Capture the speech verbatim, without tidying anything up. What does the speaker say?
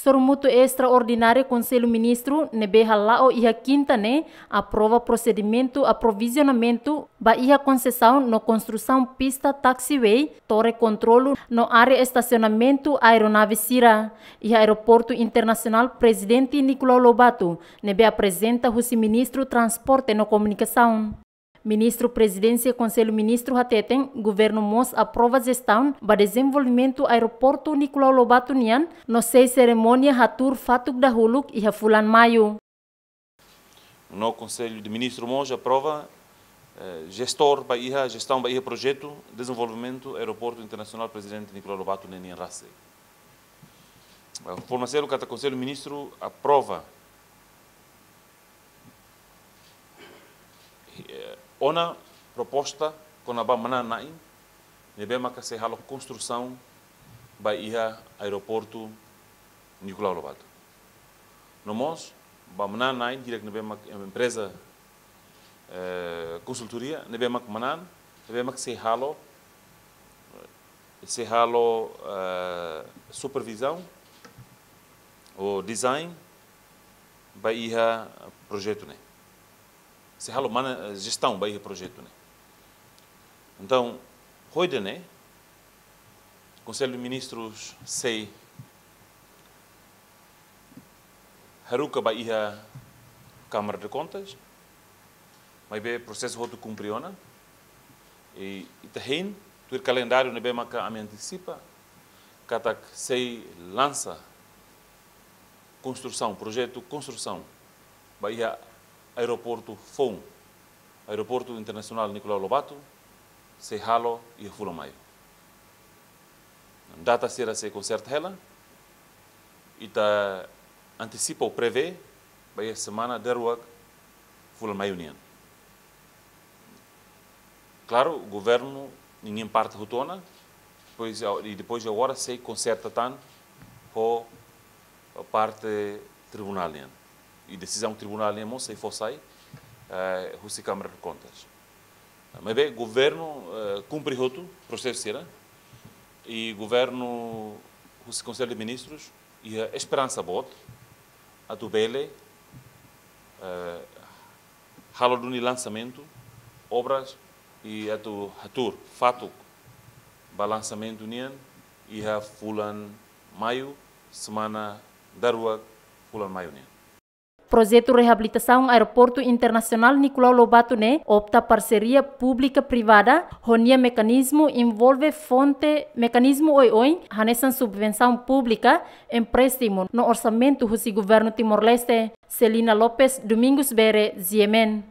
Sorumutu estraordinária Konsellu Ministru ne'ebé hala'o iha kinta ne'e aprova prosedimentu aprovizionamentu ba iha konsesaun no konstrusaun pista taxiway, torre kontrolu no área estasionamentu aeronave sira iha Aeroportu Internasionál Prezidente Nicolau Lobato, ne'ebé aprezenta husi Ministru Transporte no Komunikasaun. Ministru Prezidénsia Konsellu Ministru hateten, governu mós aprova jestaun ba dezenvolvimentu Aeroportu Nicolau Lobato nian, no sei serimónia hatuur fatuk dahuluk iha fulan Maiu. No Konsellu de Ministru mós aprova, eh, jestór ba iha, jestaun ba iha projetu dezenvolvimentu Aeroportu Internasionál Prezidente Nicolau Lobato ne'e nian rasik. Eh, forma selu katak Konsellu Ministru aprova, eh, ona proposta kona-ba manán-na'in ne'ebé maka sei halo konstrusaun ba iha Aeroportu Nicolau Lobato. No mós ba manán-na'in hirak ne'ebé mak empreza, eh, konsultoria ne'ebé mak manán, ne'ebé mak sei halo, sei halo, eh, supervizaun ou design ba iha projetu ne'e. Sei halo mana, eh, jestaun ba iha projetu ne'e. Entaun, ho ida-ne'e, Konsellu de Ministrus sei haruka ba iha Câmara de Contas, maibé prosesu hotu kumpre ona, i ita hein tuir kalendáriu ne'ebé maka ami antesipa, katak sei lansa konstrusaun, projetu konstrusaun ba iha aeroportu foun, Aeroportu Internasionál Nicolau Lobato, sei halo iha fulan Maiu. Data sira sei konserta hela, ita antesipa ou prevee ba iha semana daruak fulan Maiu nian. Klaru, governu ninia parte hotu ona, depois, i depois agora sei konserta tan ho parte tribunál nian. I desizaun tribunál nian mós sei fó sai, eh, husi Câmara de Contas. Maibé governu, eh, kumpre hotu prosesu sira, i governu husi Konsellu de Ministrus iha esperansa boot atu bele, eh, halo duni lansamentu obras i atu hatuur fatuk ba lansamentu nian iha fulan Maiu, semana daruak fulan Maiu nian. Projetu reabilitasaun Aeroportu Internasionál Nicolau Lobato ne'e opta parseria públika privada, ho nia mekanizmu envolve fonte mekanizmu oioin, hanesan subvensaun públika, empréstimu no orsamentu husi governu Timor-Leste. Celina Lopes, Domingos Bere, G M N.